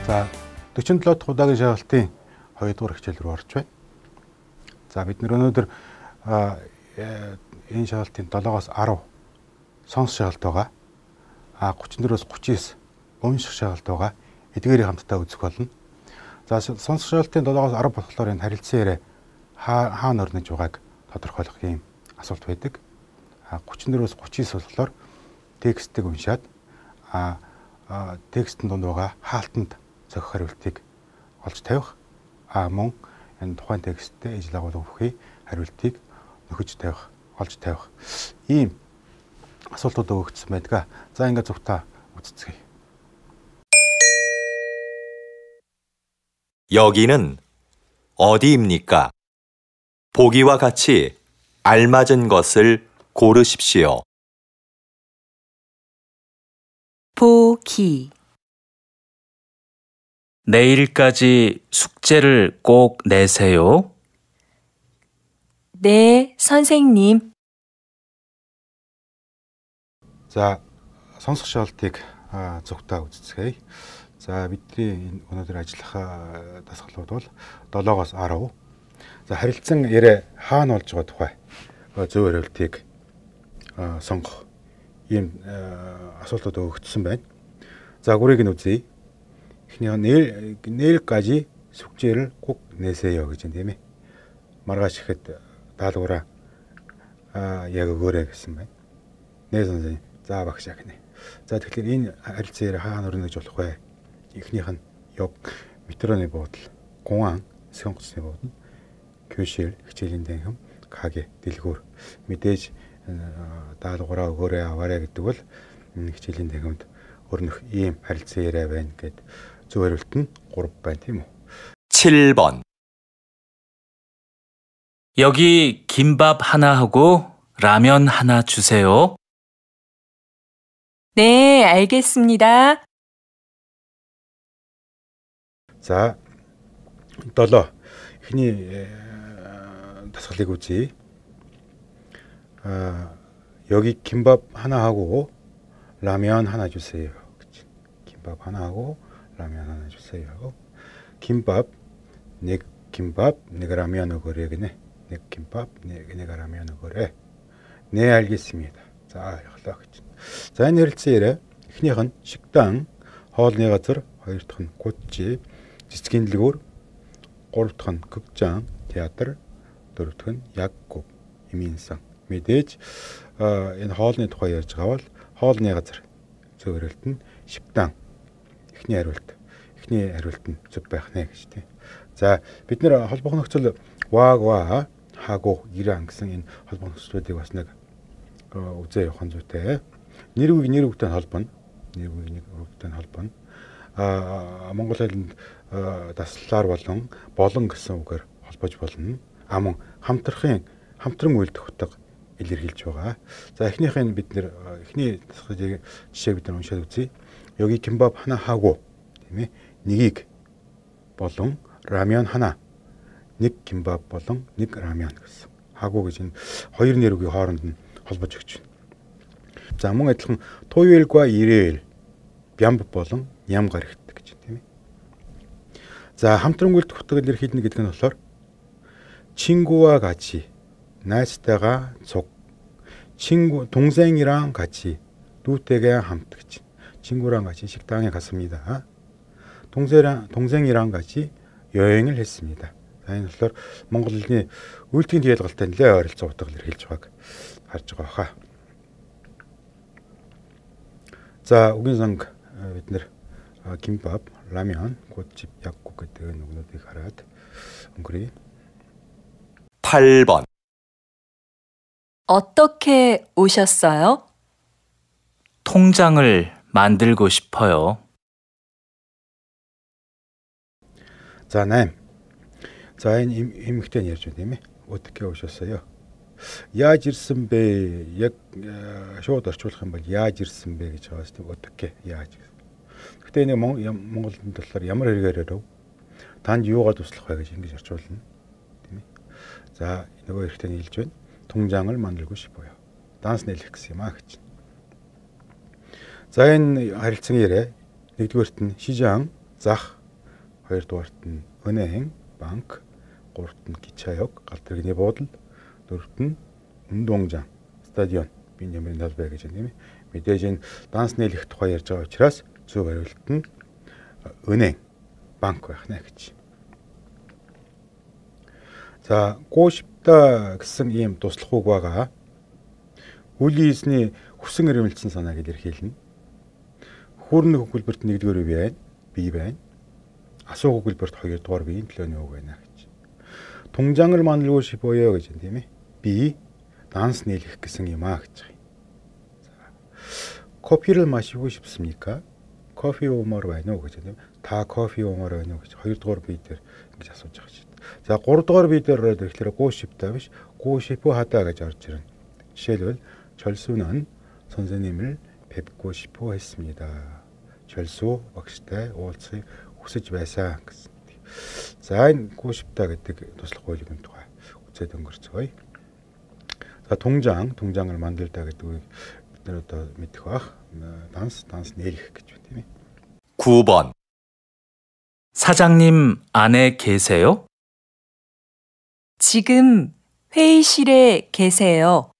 За 47 дахь удаагийн шалгалтын 2 дугаар хичээл рүү орж байна. За бид өнөөдөр энэ шалгалтын 7-оос 10 сонс шалгалт байгаа. 34-оос 39 унших шалгалт байгаа. Эдгээрийг хамтдаа үзэх болно. За сонс шалгалтын 7-оос 10 болохоор энэ харилцан яриа хаана орнож байгааг тодорхойлох юм асуулт байдаг. 34-оос 39 болохоор текстийг уншаад текстэн донд байгаа хаалтанд зохих хариултыг олж тавих. Мөн энэ тухайн тексттэй ижил агуулга бүхий хариултыг нөхөж тавих, олж тавих. Ийм асуултууд өгөгдсөн байдаг. За ингээд зөвхөн үзцгээе. 여기는 어디입니까? 보기와 같이 알맞은 것을 고르십시오. 보기. 내일까지 숙제를 꼭 내세요. 네, 선생님. За сонсох шалгалтыг зөвхөн үзцгээе. За бидний өнөөдөр ажиллах дасгалууд бол 7-оос 10. За харилцан яриа хаана болж байгаа тухай зөв хариултыг сонгох ийм асуултууд өгөгдсөн байна. За гурыг нь үзье. Эхний 내일까지 숙제를 꼭 내세요 гэж юм тийм ээ. Маргааш ихэд даалгавраа яг өгөөрэй гэсэн байна. Нээ 선생님. За багш яг нэ. За тэгэхээр энэ харилцан яриа хаана өрнө гэж болох вэ? Эхнийх нь ёг метроны буудал, гуан, сонгоцны буудал, 교실 хичээлийн танхим, 가게 дэлгүүр. Мэдээж даалгавраа өгөөрэй аваарай гэдэг бол хичээлийн танхимд өрнөх ийм харилцан яриа байна гэд зөв хариулт нь 3 байна тийм үү? 7번. 여기 김밥 하나 하고 라면 하나 주세요. 네, 알겠습니다. За 7. Эхний дасгалыг үзье. 여기 김밥 하나 하고 라면 하나 주세요. 김밥 하나 하고 라면 하나 주세요. 김밥, 네 김밥, 내가 라면 먹으래 그네. 네 김밥, 내가 라면 먹으래. 네 알겠습니다. За яглаа гэж. За энэ харилцан яриа эхнийх нь 식당, хоолны газар, хоёр дахь нь гутчи, цэцгийн дэлгүүр, гурав дахь нь 극장, театр, дөрөв дахь нь 약국, иминсан. Мэдээж энэ хоолны тухай ярьж байгаа бол хоолны газар зөв хариулт нь 식당. Эхний хариулт нь зөв байх нэ гэж тийм. За бид нэр холбох нөхцөл 와 하고 이랑 гэсэн энэ холбох нөхцлүүдийг бас нэг үзээ явах зүйтэй. Нэр үгтэй холбоно. Монгол хэлэнд таслаар болон гэсэн үгээр холбож болно. Мөн хамтран үйлдэх утга илэрхийлж байгаа. За эхнийхээ бид нэр эхний жишээг бид уншаад үзье. 여기 김밥 하나 하고 тийм ээ. Нэгийг болон 라면 하나. Нэг 김밥 болон нэг 라면 гэсэн. 하고 гэж энэ хоёр нэр үгийн хооронд нь холбож өгч байна. За мөн адилхан 토요일과 일요일 бямб болон ям гарагт гэж тийм ээ. За хамтран үйлдэх утга илэрхийлнэ гэдэг нь болохоор 친구와 같이 найзтайгаа цуг. 동생이랑 같이 누구에게 хамт гэж. 친구랑 같이 식당에 갔습니다. 동생이랑 같이 여행을 했습니다. За энэ болохоор Монгол хэлний үйлдэхин диалгалтай нэлээд ойролцоо утга илэрхийлж байгааг харж байгаа хаа. За үгийн санг бид нэр 김밥, 라면, 꽃집, 약국 гэдэг нүгнүүдийг хараад өнгөрье. 8번. 어떻게 오셨어요? 통장을 만들고 싶어요. За 8. За энэ эмэгтэй ярьж байна тийм ээ. Ötke 오셨어요? Яаж ирсэн бэ? Яг шууд орчуулах юм бол яаж ирсэн бэ гэж байгаа шүү дээ. Ötke яаж. Гэтэ энэ Монголд болохоор ямар хэрэгээр өрөв? Танд юугаар туслах вэ гэж ингэж орчуулна. Тийм ээ. За нөгөө эрэгтэй нь хэлж байна. 통장을 만들고 싶어요. Данс нэлэх гэсэн юм аа гэж. За энэ харилцан яриа нэгдүгээрт нь 시장, зах, хоёрдугаарт нь 은행, банк, гуравт нь 기차역, галтрэгний буудал, дөрөвт нь 운동장, стадион, биеийн нэмрийн талбай гэж байна тийм ээ. Мэдээж энэ данс нийлэх тухай ярьж байгаа учраас зөв хариулт нь 은행, банк байх нэ гэж. За, гуушипта гэсэн ийм туслах үг байгаа. Үлийн эзний хүсэн эрмэлзсэн санааг илэрхийлнэ. Хүүрнэх өгүүлбэрт 1-р бие байна. Бие байна. Асуух өгүүлбэрт 2-р биеийн төлөөний үг байна гэж. Тунжангар манлгүй шипоё гэж байна тийм ээ. Би данс нийлэх гэсэн юм аа гэж байна. За. Кофе를 마시고 싶습니까? Кофе уумаар байна уу гэж байна тийм. Та кофе уумаар байна уу гэж 2-р бие дээр ингэж асууж байгаа шүү. За 3-р бие дээр ороод ирэхээр гуушипта биш. гуушипу 하다 гэж орж ирнэ. жишээлбэл 철수는 선생님을 뵙고 싶어 했습니다. 철수 багштай уулзахыг хүсэж байсан гэсэн. За энэ гуушипта гэдэг туслах үйлгийн тухай үзээд өнгөрцгөөе. За 동장을 만들다 гэдэг үгийг бид нэр одоо мэдэх бах. данс нийлэх гэж байна тийм ээ. 9번. 사장님 안에 계세요? 지금 회의실에 계세요.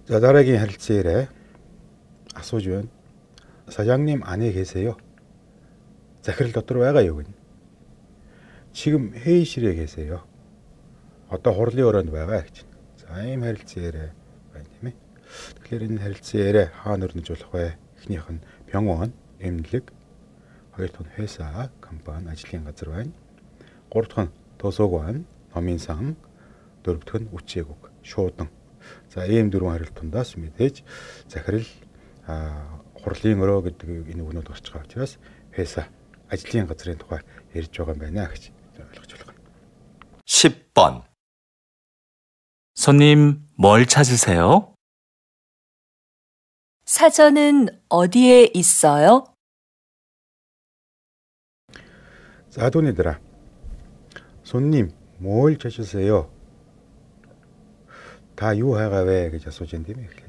자, дараагийн харилцан ирээ асууж байна. 사장님 안에 계세요? захирал дотор байгаа юу гэнэ. 지금 회의실에 계세요. одоо хурлын өрөөнд байгаа гэж. За, ийм харилцан ирээ байна тийм ээ. Тэгэхээр энэ харилцан ирээ хаана өрнөжүүлэх вэ? Эхнийх нь 병원, эмнэлэг, хоёр дахь нь 회사, компани, ажлын газар байна. Гурав дахь нь 도서관, номын сан, дөрөв дэх нь үчээгүг, шуудан. За, ийм дөрвөн харилцаандаас мэдээж захирал хурлын өрөө гэдэг энэ үгнүүд гарч байгаа учраас 회사, ажлын газрын тухай ярьж байгаа юм байна гэж ойлгож байна. 10번. 손님 뭘 찾으세요? 사전은 어디에 있어요? 자, 돈이들아. 손님, 뭘 찾으세요? 다 유하가 왜 그저 소진되면 이렇게.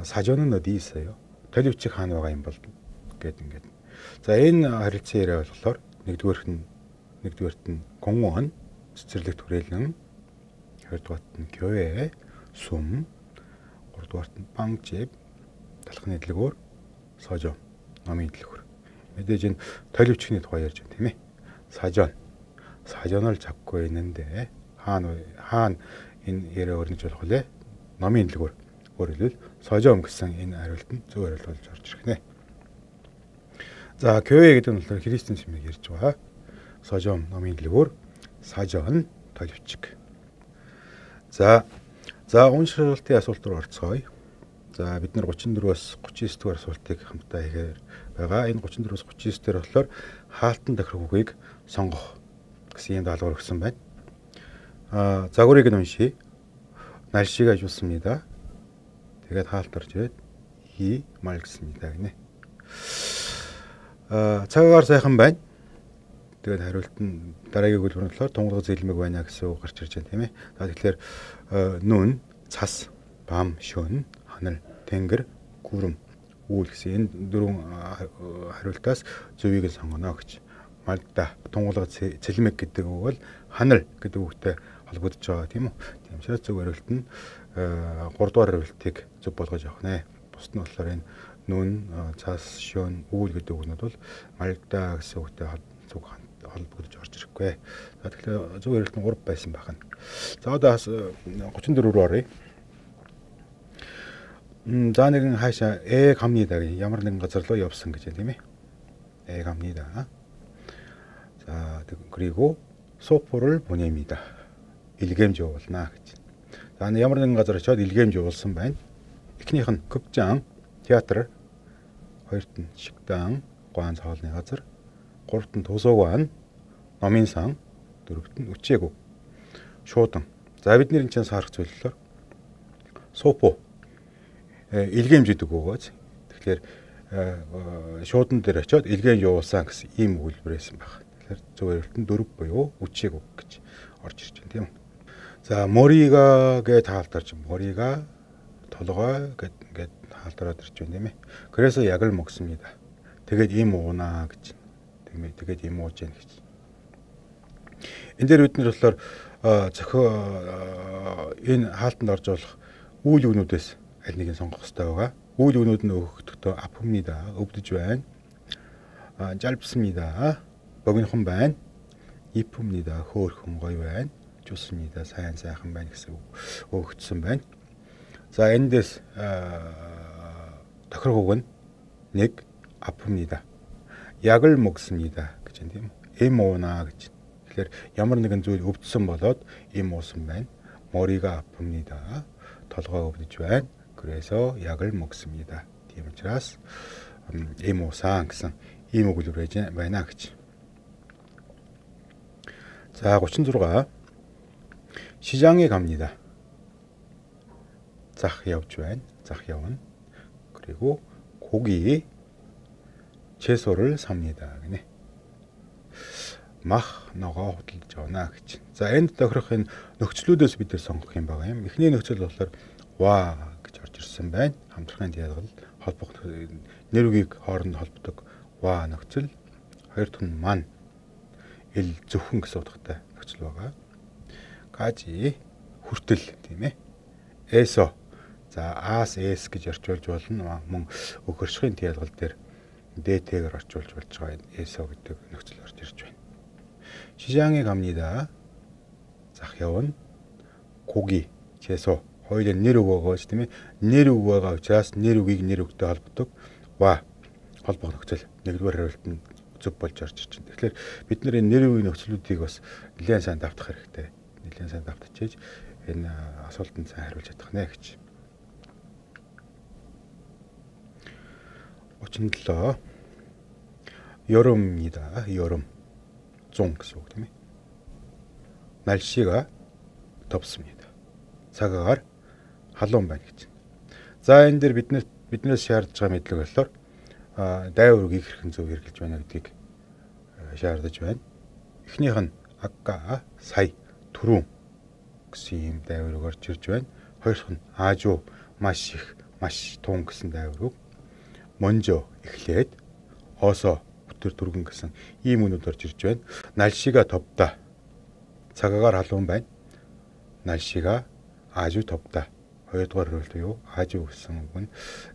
사전은 어디 있어요? төлөвчих хаана байгаа юм бол гэдэг ингээд. За, энэ харилцан яриа болохоор нэгдүгээрт нь 공무원, цэцэрлэг түрээлэн, хоёрдугаарт нь 교회, сүм, гуравдугаарт нь банк집, талхны дэлгүүр, 서점, номын дэлгүүр. мэдээж энэ төлөвчний тухай ярьж байна тийм ээ. 사전을 잡고 있는데 хаана энэ яриа өрнөж болох вэ? номын дэлгүүр. өөрөлдвөл 서점 гэсэн энэ хариулт нь зөв хариулт болж орж ирэх нэ. За, 교회 гэдэг нь болохоор христийн чимээг ярьж байгаа. 서점, номын дэлгүүр, 사전, төлөвчг. За, уншилтын асуулт руу орцгоё. За, бид нар 34-өөс 39 дугаар асуултыг хамтдаа хийхээр байгаа. Энэ 34-өөс 39 дээр болохоор хаалтан тохирох үгийг сонгох гэсэн юм даалгавар өгсөн байна. загварыг нь уншия. 날씨가 좋습니다. тэгээд хаалт орж ирээд 이 맑습니다 гинэ. цагаагаар сайхан байна. Тэгээд хариулт нь дараагийн өгүүлбэр нь болохоор тунгалаг зэлмэг байна гэсэн үг гарч ирж байна тийм ээ. За, тэгэхээр 눈, цас, 밤, шөнө, 하늘, тэнгэр, гүрэм, үүл гэсэн энэ дөрвөн хариултаас зөвийг нь сонгоно гэж. Мальта тунгалаг зэлмэг гэдэг үг бол 하늘 гэдэг үгтэй холбогдож байгаа тийм үү. Тийм учраас зөв хариулт нь 3 дугаар хариултыг зөв болгож авах нэ. Бусд нь болохоор энэ нүн, цас, шөн, үүл гэдэг үгнүүд бол мальта гэсэн үгтэй зөв холбогдож орж ирэхгүй. За, тэгэхээр зөв хариулт нь 3 байсан байх нь. За, одоо 34 рүү оръё. За, нэгэн хаашаа 갑니다. ямар нэгэн газар руу явсан гэж байна тийм ээ. 갑니다. 자, 그리고 소포를 보냅니다. 일개임지 явуулна гэж. За, ямар нэгэн газар очиод 일개임지 явуулсан байна. Эхнийх нь 극장, театр, хоёрт нь 식당, гоан цоолны газар, гуравт нь 도서관, номын сан, дөрөвт нь үчээгүг, шуудан. За, бидний энэ чинь саарах зүйл болохоор 소포 일개임지 гэдэг үгөөс. Тэгэхээр шуудан дээр очиод 일개임지 явуулсан гэсэн ийм өгүүлбэр байсан байна. зөв хариулт нь 4 буюу үчээгүг гэж орж ирж байна тийм үү. За, 머리가 гэ таалтарч 머리가 толгой гэд ингээд таалтараад ирж байна тийм ээ. 그래서 약을 먹습니다. Тэгээд ийм уунаа гэж. Тэгээд ийм ууж яах гэж. Энд дээр бид нар болохоор энэ хаалтанд орж болох үйл өгнүүдээс аль нэгийг сонгох хэрэгтэй байгаа. үйл өгнүүд нь өгөхдөө 아픕니다. өвдөж байна. 짧습니다. богинохон байна. 이쁩니다. хөөрхөн гоё байна. 좋습니다. сайхан байна гэсэн өгөгдсөн байна. За эндээс тохирох үг нь нэг 아픕니다. 약을 먹습니다 гэж юм тийм үү? Эм уунаа гэж. Тэгэхээр ямар нэгэн зүйл өвдсөн болоод эм уусан байна. 머리가 아픕니다. толгой өвдөж байна. 그래서 약을 먹습니다. Тийм учраас эм уусан гэсэн ийм өгүүлбэр байна гэж. 자, 36. 시장에 갑니다. зах явж байна. зах явна. 그리고 고기 채소를 삽니다. гинэ. мах ногоо худалдаж байна гэж. За энд тохирох энэ нөхцлүүдээс бид нэр сонгох юм байгаа юм. Эхний нөхцөл болохоор 와 гэж орж ирсэн байна. Хамтлагын диалгал холбох нэр үгийг хооронд холбодог 와 нөхцөл. Хоёр дахь нь ман ил зөвхөн гэсэн утгатай нөхцөл байгаа. 가지 хүртэл тийм ээ. эсо за аас эс гэж орчуулж болно. Мөн өгөршхийн диалгал дээр дэтэгээр орчуулж болж байгаа эсо гэдэг нөхцөл орж ирж байна. 시장에 갑니다. зах явна. 고기, 채소 хоёулаа нэр үг байгаа шүү дээ. Нэр үг байгаа учраас нэр үгийг нэр үгтэй холбодог ва холбох нөхцөл нэгдүгээр хариулт нь зөв болж орж ирж байна. Тэгэхээр бид нэр нэр үгийн нөхцлүүдийг бас нэлээд сайн давтах хэрэгтэй. Нэлээд сайн давтчихээж энэ асуултанд сайн хариулж чадах нэ гэж. 37. 여름입니다. 여름. 종 гэсэн үг тийм ээ. 날씨가 덥습니다. цагаагаар халуун байна гэж. За энэ дээр биднээс шаардж байгаа мэдлэг болохоор дайвар үгийг хэрхэн зөв хэрэглэж байна гэдгийг шаардаж байна. Эхнийх нь 아까, сая, түрүүн гэсэн ийм дайвар үг орж ирж байна. Хоёр дахь нь 아주, маш их, маш тун гэсэн дайвар үг. 먼저, эхлээд, 어서, бүтэр түргэн гэсэн ийм үнүүд орж ирж байна. 날씨가 덥다. цагаагаар халуун байна. 날씨가 아주 덥다. хоёрдугаар хариулт юу? 아주 гэсэн үг нь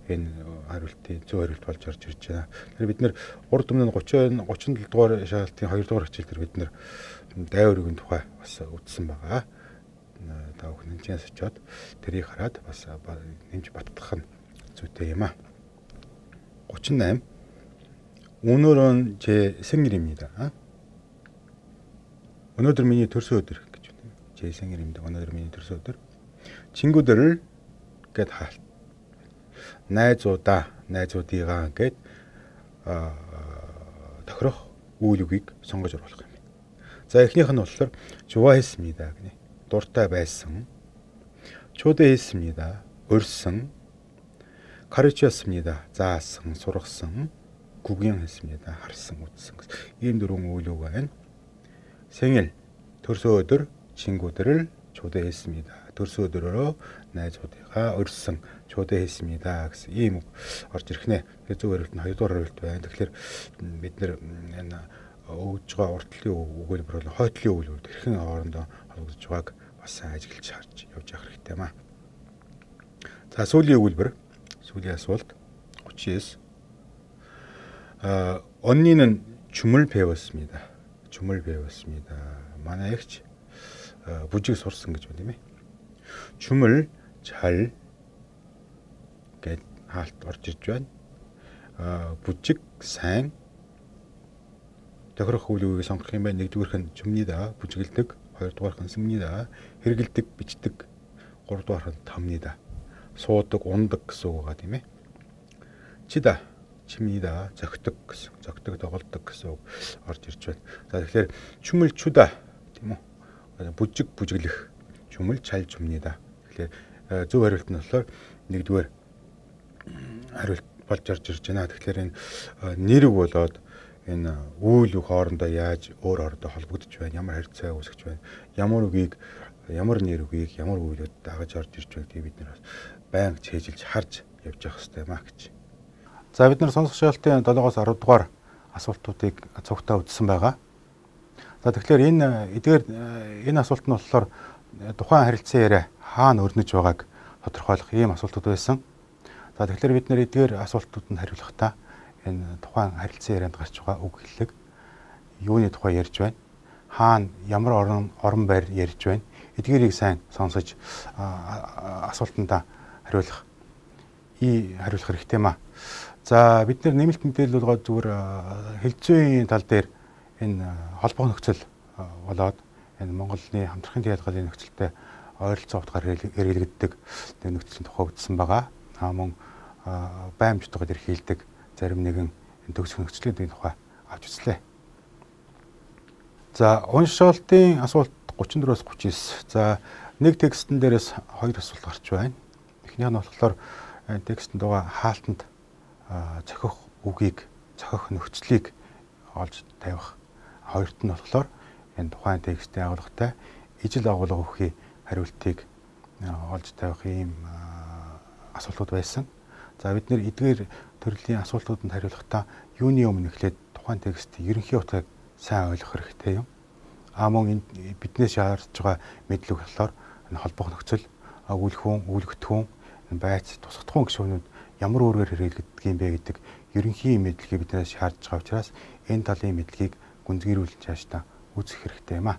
энэ хариултын зөв хариулт болж орж ирж байна. Тэгэхээр бид нэр урд өмнө 37 дугаар шаалтын 2 дугаар хичээл дээр бид нэр дайвар үгийн тухай бас үзсэн байгаа. Та бүхэн хэмжээс очиод тэрийг хараад бас нэмж баттгах нь зүйтэй юм аа. 38. 오늘은 제 생일입니다. 오늘은 миний төрсөн өдөр гэж байна. 제 생일입니다. 오늘은 миний төрсөн өдөр. 친구들을 гээд хаалт. найзуудаа, найзуудыгаа гээд тохирох үйл үгийг сонгож оруулах юм. За эхнийх нь болохоор 좋아했습니다 гэнэ. дуртай байсан. 초대했습니다. урьсан. 가르쳤습니다. заасан, сургасан. 구경했습니다. харсан, үзсэн. ийм дөрвөн үйл үг байна. 생일, төрсөн өдөр, 친구들을 초대했습니다. төрсөн өдрөөрөө найзуудыгаа урьсан, 초대했습니다 гэсэн ийм үг орж ирэх нэ. Тэгэхээр зөв хариулт нь 2 дугаар хариулт байна. Тэгэхээр бид нэр энэ өгж байгаа уртлын өгүүлбэр бол хойтлын өгүүлбэр хэрхэн хоорондоо холбогдож байгааг бас сайн ажиглаж харж явж явах хэрэгтэй маа. За сүүлийн өгүүлбэр, сүүлийн асуулт 39. 언니는 춤을 배웠습니다. 춤을 배웠습니다. манай эгч бүжиг сурсан гэж байна тийм ээ. 춤을 잘 гэд хаалт орж ирж байна. бүжиг сайн тохирох үйл үгийг сонгох юм байна. Нэгдүгээрх нь 줍니다. бүжиглдэг. Хоёрдугаарх нь 씁니다. хэрэгэлдэг, бичдэг. Гуравдугаарх нь там니다. суудаг, ундаг гэсэн үг байгаа тийм ээ. чида 칩니다. 적득 гэсэн. 적득 тоглодог гэсэн үг орж ирж байна. За тэгэхээр 춤을 추다 тийм үү? бүжиг бүжиглэх. 춤을 잘 춥니다. Тэгэхээр зөв хариулт нь болохоор нэгдүгээр хариулт болж орж ирж байна. Тэгэхээр энэ нэр үг болоод энэ үйл үг хоорондоо яаж өөр хоорондоо холбогдож байна? Ямар харьцаа үүсгэж байна? Ямар үгийг, ямар нэр үгийг, ямар үйлүүд дагаж орж ирж байгааг бид нар бас байнга чэйжилж харж явж явах хэрэгтэй маа гэж. За бид нар сонсох шалгалтын 7-оос 10 дугаар асуултуудыг цугтаа үзсэн байгаа. За тэгэхээр энэ асуулт нь болохоор тухайн харилцан яриа хаана өрнөж байгааг тодорхойлох ийм асуултууд байсан. За тэгэхээр бид нэр эдгээр асуултууданд хариулахдаа энэ тухайн харилцан ярианд гарч байгаа үг хэллэг юуны тухай ярьж байна? Хаана ямар орон байр ярьж байна? Эдгээрийг сайн сонсож асуултандаа хариулах хэрэгтэй маа. За бид нэр нэмэлт мэдээлэл болгоод зүгээр хэлцүүийн тал дээр энэ холбоо нөхцөл болоод энэ Монголын хамтрахын ялгааны нөхцөлтэй ойролцоо утгаар хэрэглэгддэг нөхцөлийн тухай үзсэн байгаа. Мөн баймжтайгаар эрхийлдэг зарим нэгэн төгсөх нөхцөлийн тухай авч үзлээ. За уншаалтын асуулт 34-өөс 39. За нэг текстэн дээрээс хоёр асуулт гарч байна. Эхнийх нь болохоор текстэнд байгаа хаалтанд зохих үгийг, зохих нөхцөлийг олж тавих. Хоёрт нь болохоор энэ тухайн текстийн агуулгатай ижил агуулга өгөхий хариултыг олж тавих ийм асуултууд байсан. За бид нэр эдгээр төрлийн асуултууданд хариулахдаа юуны өмнө эхлээд тухайн текстийн ерөнхий утгыг сайн ойлгох хэрэгтэй юм. Мөн биднээс шаардж байгаа мэдлэг болохоор энэ холбох нөхцөл, өгүүлэх хүн, байц, тусгах хүн гишүүнүүд ямар үүргээр хэрэглэгддэг юм бэ гэдэг ерөнхий мэдлэгийг биднээс шаардж байгаа учраас энэ талын мэдлэгийг гүнзгийрүүлж цаашдаа үзэх хэрэгтэй юм аа.